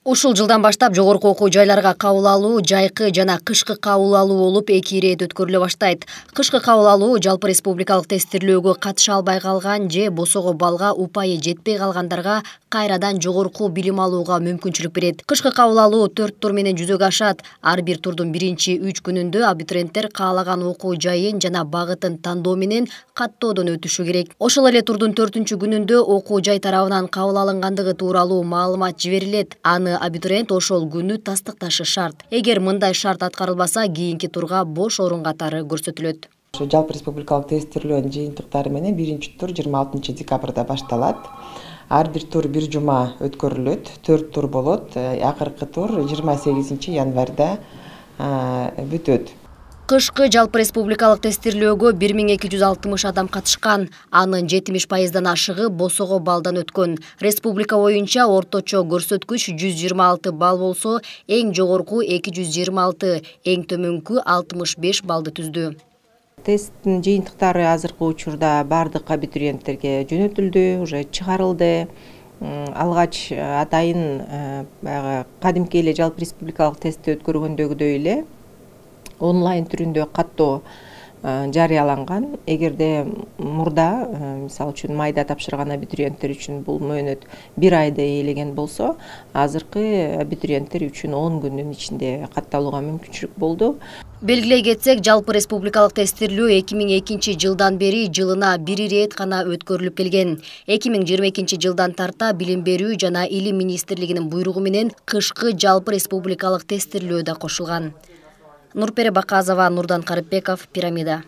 Ушул жылдан баштап жогорку окуу жайларга кабыл алуу жайкы жана кышкы кабыл алуу болуп 2 ирет өткөрүлө баштайт. Кышкы кабыл алуу жалпы республикалык тесттирлөөгө катыша албай калган же босого балга упайы жетпей калгандарга кайрадан жогорку билим алууга мүмкүнчүлүк берет. Кышкы кабыл алуу 4 тур менен жүзөгө ашат. Ар бир турдун биринчи 3 күнүндө абитуриенттер каалаган окуу жайын жана багытын тандоо менен каттоодон өтүшү керек. Ошол эле турдун 4-күнүндө окуу жай тарабынан кабыл алынгандыгы тууралуу маалымат жиберилет. Абитуриент ошол күнү тастыкташы шарт. Эгер мындай шарт аткарылбаса, кийинки турга бош орун катары көрсөтүлөт. Жалпы республикалык тесттирлөөнүн жыйынтыктары менен биринчи тур 26 декабрда башталат. Ар бир тур бир жума өткөрүлөт. 4 тур болот. Акыркы тур 28 январда бүтөт. Кышкы жалпы республикалык тесттирлөөгө 1260 адам катышкан. Анын 70%дан ашыгы босого балдан өткөн. Республика боюнча орточо көрсөткүч 126 балл болсо, эң жогорку 226, эң төмөнкү 65 баллды түздү. Тесттин жыйынтыктары азыркы учурда бардык абитуриенттерге жөнөтүлдү, уже чыгарылды. Алгач атайын кадимки эле жалпы республикалык тестти өткөргөндөгүдөй эле онлайн түрүндө каттоо жарыяланган. Эгерде мурда, мисалы үчүн майда тапшырган абитуриенттер үчүн бул мөөнөт 1 айды ээлеген болсо, азыркы абитуриенттер үчүн 10 күндүн ичинде катталууга мүмкүнчүлүк болду. Белгилей кетсек, жалпы республикалык тесттирлөө 2002 жылдан бери жылына 1 ирет гана өткөрүлүп келген. 2022 жылдан тарта Билим берүү жана Илим министрлигинин буйругу менен кышкы жалпы республикалык тесттирлөө да кошулган. Нурпери Баказова, Нурдан Карыпбеков, Пирамида.